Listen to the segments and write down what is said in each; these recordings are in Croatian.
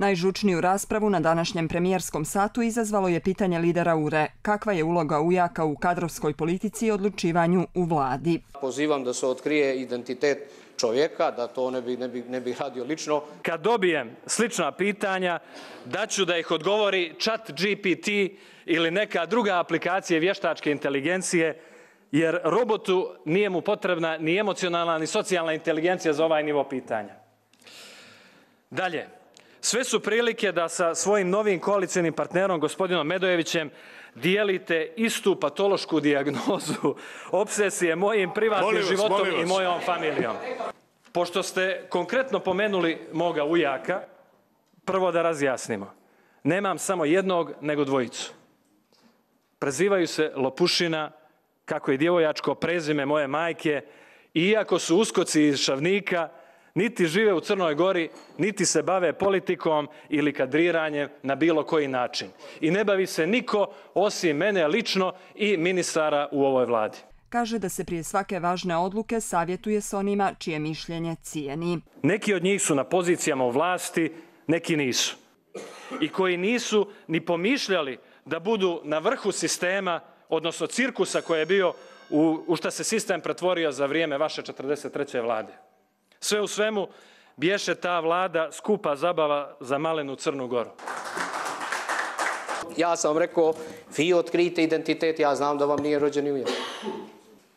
Najžučniju raspravu na današnjem premijerskom satu izazvalo je pitanje lidera URE. Kakva je uloga ujaka u kadrovskoj politici i odlučivanju u vladi? Pozivam da se otkrije identitet čovjeka, da to ne bi radio lično. Kad dobijem slična pitanja, daću da ih odgovori ChatGPT ili neka druga aplikacija vještačke inteligencije, jer robotu nije mu potrebna ni emocionalna ni socijalna inteligencija za ovaj nivo pitanja. Dalje, sve su prilike da sa svojim novim koalicijnim partnerom, gospodinom Medojevićem, dijelite istu patološku dijagnozu obsesije mojim privatnim životom i mojom familijom. Pošto ste konkretno pomenuli moga ujaka, prvo da razjasnimo. Nemam samo jednog, nego dvojicu. Prezivaju se Lopušina, kako je djevojačko prezime moje majke, i iako su uskoci iz Šavnika, niti žive u Crnoj Gori, niti se bave politikom ili kadriranjem na bilo koji način. I ne bavi se niko osim mene lično i ministara u ovoj vladi. Kaže da se prije svake važne odluke savjetuje s onima čije mišljenje cijeni. Neki od njih su na pozicijama u vlasti, neki nisu. I koji nisu ni pomišljali da budu na vrhu sistema, odnosno cirkusa koji je bio u šta se sistem pretvorio za vrijeme vaše 43. vlade. Sve u svemu, bješe ta vlada skupa zabava za malenu Crnu Goru. Ja sam rekao, vi otkrijte identitet, ja znam da vam nije rođeni ujak.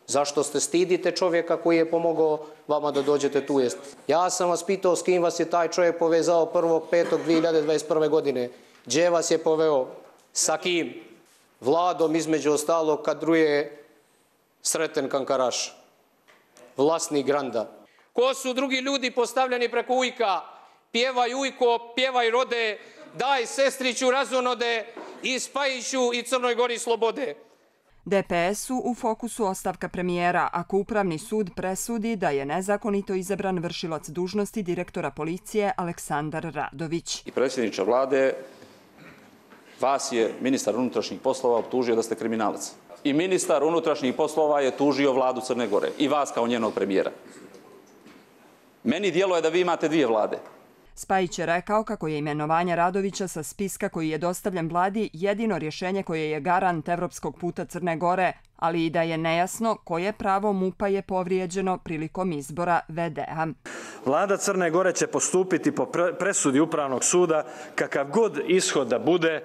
Zašto ste stidite čovjeka koji je pomogao vama da dođete tu jest? Ja sam vas pitao s kim vas je taj čovjek povezao 1.5.2021. godine. Gdje vas je poveo? Sa kim? Vladom između ostalog kadruje Sreten Kankaraš, vlasnik Granda. Ko su drugi ljudi postavljeni preko ujka? Pjevaj ujko, pjevaj rode, daj sestriću razonode i Spajiću i Crnoj Gori slobode. DPS-u u fokusu ostavka premijera, ako Upravni sud presudi da je nezakonito izabran vršilac dužnosti direktora policije Aleksandar Radović. I predsjedniče vlade, vas je ministar unutrašnjih poslova optužio da ste kriminalac. I ministar unutrašnjih poslova je tužio vladu Crne Gore i vas kao njenog premijera. Meni djeluje da vi imate dvije vlade. Spajić je rekao kako je imenovanje Radovića sa spiska koji je dostavljen vladi jedino rješenje koje je garant evropskog puta Crne Gore, ali i da je nejasno koje pravo MUP-a je povrijeđeno prilikom izbora VD-a. Vlada Crne Gore će postupiti po presudi Upravnog suda kakav god ishod da bude.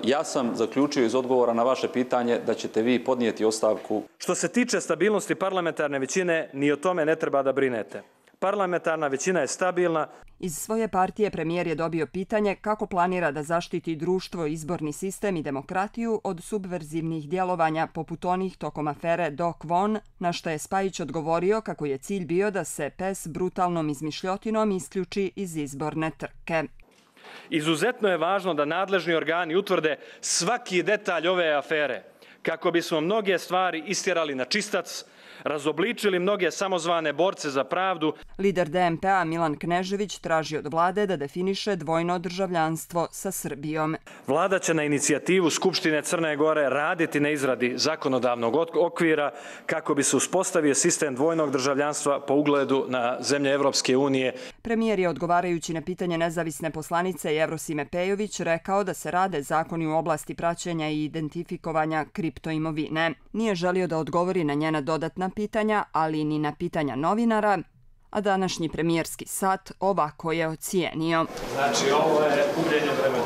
Ja sam zaključio iz odgovora na vaše pitanje da ćete vi podnijeti ostavku. Što se tiče stabilnosti parlamentarne većine, ni o tome ne treba da brinete. Parlamentarna većina je stabilna. Iz svoje partije premijer je dobio pitanje kako planira da zaštiti društvo, izborni sistem i demokratiju od subverzivnih djelovanja poput onih tokom afere Doc Von, na što je Spajić odgovorio kako je cilj bio da se PES brutalnom izmišljotinom isključi iz izborne trke. Izuzetno je važno da nadležni organi utvrde svaki detalj ove afere, kako bismo mnoge stvari istjerali na čistac, razobličili mnoge samozvane borce za pravdu. Lider DMP-a Milan Knežević traži od vlade da definiše dvojno državljanstvo sa Srbijom. Vlada će na inicijativu Skupštine Crne Gore raditi na izradi zakonodavnog okvira kako bi se uspostavio sistem dvojnog državljanstva po ugledu na zemlje Evropske unije. Premijer je odgovarajući na pitanje nezavisne poslanice Jevrosime Pejović rekao da se rade zakoni u oblasti praćenja i identifikovanja kriptoimovine. Nije želio da odgovori na njena dodatna pitanja, ali ni na pitanja novinara, a današnji premijerski sat ovako je ocijenio. Znači, ovo je gubljenje vremena.